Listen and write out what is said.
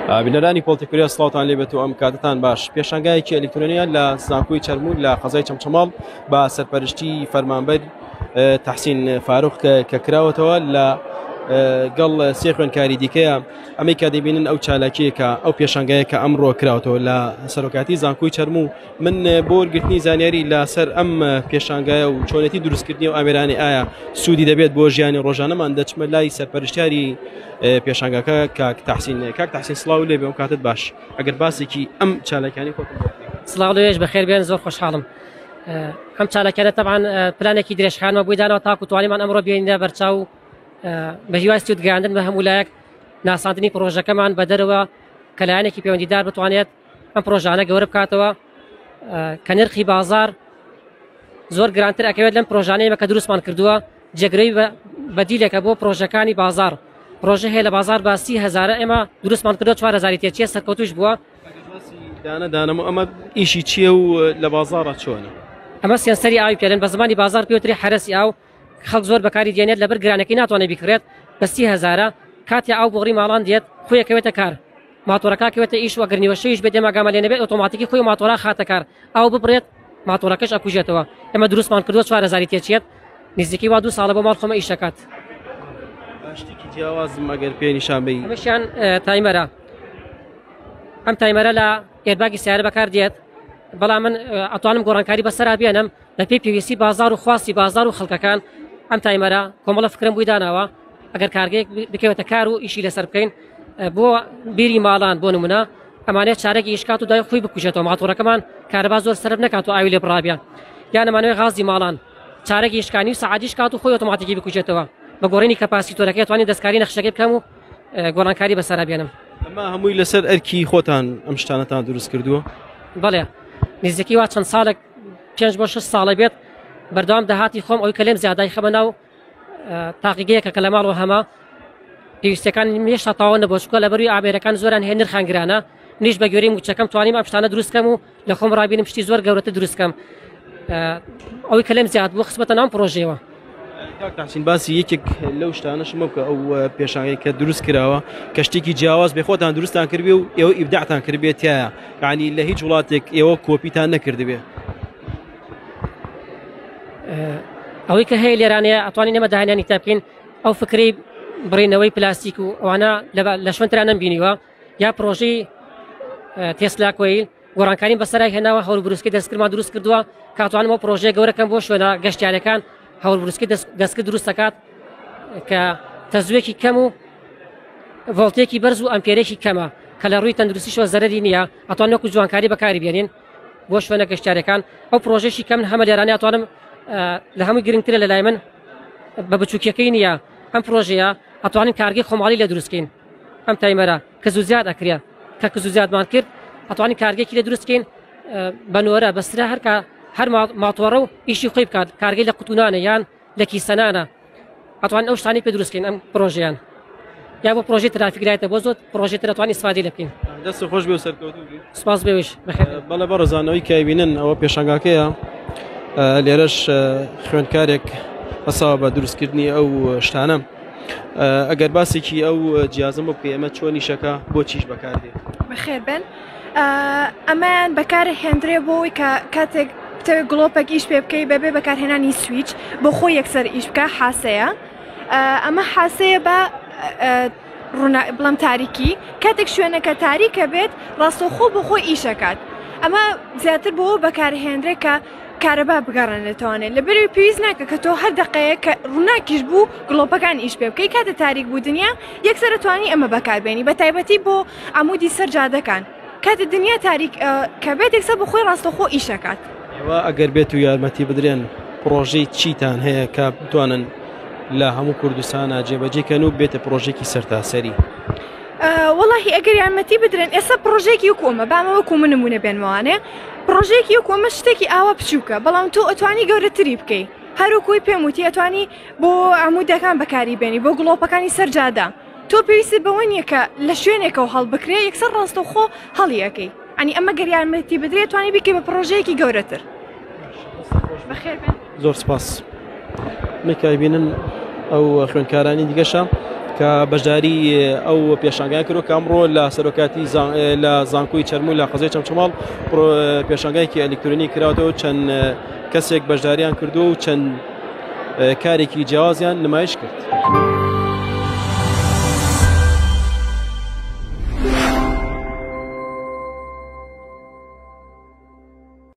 بینەرانی پۆڵتی کوریا سڵاوتان لێبێت و ئەم کاتتان باش. پێشانگایەکی ئەلیکترۆنیە لە زانکۆی چەرموو لە قەزای چەمچەماڵ بە سەرپەرشتی فەرمانبەر تەحسین فاروق کە کراوەتەوە لە گەڵ سێ خوێنکاری دیکەیە. ئەمەی کە دەبینن ئەو چالاکیەکە ئەو پێشانگایە کە ئەمڕۆ کراوەتەوە لە سەرۆکاتی زانکۆی چەرموو. من بۆ وەرگرتنی زانیاری لەسەر ئەم پێشانگایە و چۆنێتی دروستکردنی و ئامێرانی ئایا سوودی دەبێت بۆ ژیانی ڕۆژانەمان دەچمە لای سەرپەرشتیاری پێشانگاکە کاک تحسین. کاک تحسین سڵاو لێ بێ و کاتت باش. ئەگەر باسێکی ئەم چالاکیانی خۆتم بۆ بکەی. سڵاو لێش بەخێر بێن، زۆر خۆشحاڵم. ئەم چالاکیانە تەبعەن پلانێکی درێژخایەنمان بۆی داناوە تاکو توانیمان ئەمڕۆ بێنینە بەرچاو و بە هیوای سوود گەیاندن بە هەموو لایەک، ناساندنی پڕۆژەکەمان بە دەرەوە کە لایەنێکی پەیوەندیدار بتوانێت ئەم پرۆژانە گەورە بکاتەوە کە نرخی بازار زۆر گرانتر ئەکەوێت لەم پرۆژانەیە کە دروستمان کردووە. جێگرەوەی بەدیلێکە بۆ پرۆژەکانی بازار. پرۆژە هەیە لە بازار باسی هەزارە، ئێمە دروستمان کردووە 4000 تێچیە، سەرکەوتوش بووە. دانە دانەم ئەمە ئیشی چییە و لە بازارە چۆنە؟ ئەمە سێنسەری ئاوی پێلن، بە زمانی بازار پێوتری حەرەسی ئاو. خەڵک زۆر بەکاری دێنێت، لەبەر گرانەکەی ناتوانێت بیکڕێت، بە 30 هەزارە. کاتێ ئاو بۆڕی ماڵان دێت خۆیەکەوێتە کار، ماتۆرەکە کەوێتە ئیش و ئەگەر نیوەشەویش بێت ئێمە ئاگامان لێ نەبێت ئۆتۆماتیکی خۆی ماتۆرا خاتە کار، ئاو ببڕێت ماتۆرەکەش ئەکوژێتەوە. ئێمە دروستمان کردووە 4000 تێچێت، نزیکەی وا 2 ساڵە بۆ ماڵ خۆمە ئیش دەکات. شتێکی جیاوازم ئەگەر پێ نیشان بەی. ئەمەشیان timer ە. ئەم timer ە لە airbag ی سیارە بەکار دێت، بەڵام من ئەتوانم گۆڕانکاری بەسەرا بێنم بەپێی پێویستی بازار و خواستی بازار و خەڵکەکان. ئەم timer ە کۆمەڵە فکرم بووی داناوە ئەگەر کارگەیەک بکەوێتە کار و ئیشی لەسەر بکەین بۆ بیری ماڵان بۆ نمونە، ئەمانەیە چارەکی ئیشکات و دوای خۆی بکوژێتەوە، ماتۆڕەکەمان کارەبا زۆر سەرف نەکات و ئاوی لێ بڕابە. یان ئەمانەوەی غازی ماڵان چارەکی ئیشکانی و سەعاتیش کات و خۆی ئۆتۆماتیکی بکوژێتەوە، بە گۆڕینی capacitor ەکەی توانین دەستکاری نەخشەکەی بکەم و گۆڕانکاری بەسەرا بێنم. ئەمە هەمووی لەسەر ئەرکی خۆتان ئەم شتانەتان دروست کردووە؟ بەڵێ، نزیکەی وا چەند ساڵێک 5 بۆ 6 ساڵە بێت بەردەوام داهاتی خۆم ئەوی کە لێم زیادای خەمە ناو تاقیگەیەکە کە لە ماڵەوە هەمە. پێویستەکان هێشتا تەواو نەبووە، چونکە لەبەروی ئامێرەکان زۆران هەیە نرخان گرانە. منیش بە گوێرەی موچەکەم توانیم ئەم شتانە دروست کەم و لە خۆم ڕابینم شتی زۆر گەورەتر دروست کەم. ئەوەی کە لێم زیاد بوو خستمەتە ناو پرۆژەیەوە. کاک تحسین باسی یەکێک لەو شتانەشمە بکە، ئەو پێشانگەی کە دروست کراوە کە شتێکی جیاواز بێ خۆتان دروستان کردبێ و ئێوە ئیبداعتان کردبێت تایە، یعنی لە هیچ وڵاتێک ئێوە کۆپیتان نەکردبێ. ئەوەی کە هەیە لێرانەیە ئەتوانین ئێمە داهێنانی تا بکەین. ئەو فکرەی بڕینەوەی پلاستیک و ئەوانە لە شوێنترا نەمبینیوە، یا پرۆژەی تێسلا کۆیل گۆڕانکاریم بەسەرای هێناوە، هەور بروسکی دەستکردمان دروست کردووە کاتوانم ئەو پرۆژەیە گەورەکەم بۆ شوێنە گەشتیارەکان. هەور بروسکی دەستکرد دروست دەکات کە تەزوێکی کەم و ڤۆڵتێکی بەرز و ئەمپێرێکی کەمە کە لە ڕووی تەندروستیشەوە زەرەری نییە، ئەتوان وەکو جوانکاری بەکاری بێنین بۆ شوێنە گەشتیارەکان. ئەو پرۆژەشی کەم هەمە لێرانە ئەتوانم لە هەمووی گرنگترە لە لای من بە بچووکیەکەی نییە. ئەم پرۆژەیە ئەتوانین کارگەی خۆماڵی لێ دروستکەین. ئەم timer ە کە زوو زیاد ئەکرێ، کە کز و زیادمان کرد ئەتوانین کارگەیەکی لێ دروستکەین بە نۆرە بەسرە هەرکە هەر ماتۆڕە و ئیشی خۆی بکات، کارگەی لە قوتونانە یان لە کیسەنانە، ئەتوانین ئەو شتانی پێ دروستکەین ئەم پرۆژیان یا بۆ پرۆژەی ترافیک light ە، بۆ زۆر پرۆژەی تر ئەتوانین ئیسفادەی لێ بکەین. دەست خۆش بێ و سەرکەوتوو بی. سپاس بێویش بەخێر. بەڵێ بەڕێزانەوەی کایبینن ئەوە پێشانگاکەیە. لێرەش خوێندکارێک هەساوە بە دروستکردنی ئەو شتانە. ئەگەر باسێکی ئەو جیازم بۆ بکەی ئەمە چۆنیشەکە بۆ چیش بەکاردێت؟ بەخێر بن. ئەمەیان بەکار هێندرێ بۆ ئەوەی کە کاتێک بتەوێت گڵۆپێک ئیش پێ بکەی بەبێ بەکارهێنانی سویچ بۆ خۆی یەکسەر ئیش بکە. حاسەیە، ئەمە حاسەیە بە ڕوونە بڵم تاریکی، کاتێک شوێنەکە تاریکە بێت ڕاستەوخۆ بۆ خۆی ئیشەکات. ئەمە زیاتر بۆ بەکارهێنرێ کە کارەبا بگەڕێنێتوانێت لەبەری پێویست ناکە کە تۆ هەر دقەیە کە ڕووناکیش بوو گڵۆپەکان ئیش پێ بکەی، کاتە تاریک بوو دنیا یەکسەر توانی ئەمە بەکاربێنی، بە تایبەتی بۆ عمودی سەر جادەکان کاتە دنیا تاریک کە بێت یەکسەر بۆ خۆی ڕاستەوخۆ ئیشەکات. ئێوە ئەگەر بێت و یارمەتی بدرێن پرۆژەی چیتان هەیە کە بتوانن لە هەموو کوردستانە جێبەجێ کەن و بێتە پرۆژێکی سەرتاسەری؟ وەڵاهی ئەگەر یارمەتی بدرێن ئێستا پرۆژێکی وەکو ئەمە بامە وەکو من نمونە بێنمەوانێ، پرۆژێکی وەکو ئەمە شتێکی ئاوا بچووکە، بەڵام تۆ ئەتوانی گەورەتری بکەی. هەروکوی پێم وتی ئەتوانی بۆ عمودەکان بەکاری بێنی، بۆ گڵۆپەکانی سەر جادە. تۆ پێویستت بەوە نییە کە لە شوێنێکەوە هەڵبکرێ، یەکسەر ڕاستەوخۆ هەڵی ئەەکەی. ئەنی ئەمە گەر یارمەتی بدرێت توانی بیکەی بە پرۆژەیەکی گەورەتر. بەخێر بێن. زۆر سپاس. میکای بینن ئەو خوێندکارانی دیگەشە. کە بەشداری ئەو پێشانگای کرد کە ئەمڕۆ لە سەرۆکاتی لە زانکۆی چەرموو لە قەزای چەمچەماڵ پێشانگایکی ئەلیکترۆنی کراوەتەوە چەند کەسێک بەشداریان کردو و چەند کارێکی جیاوازیان نمایش کرد.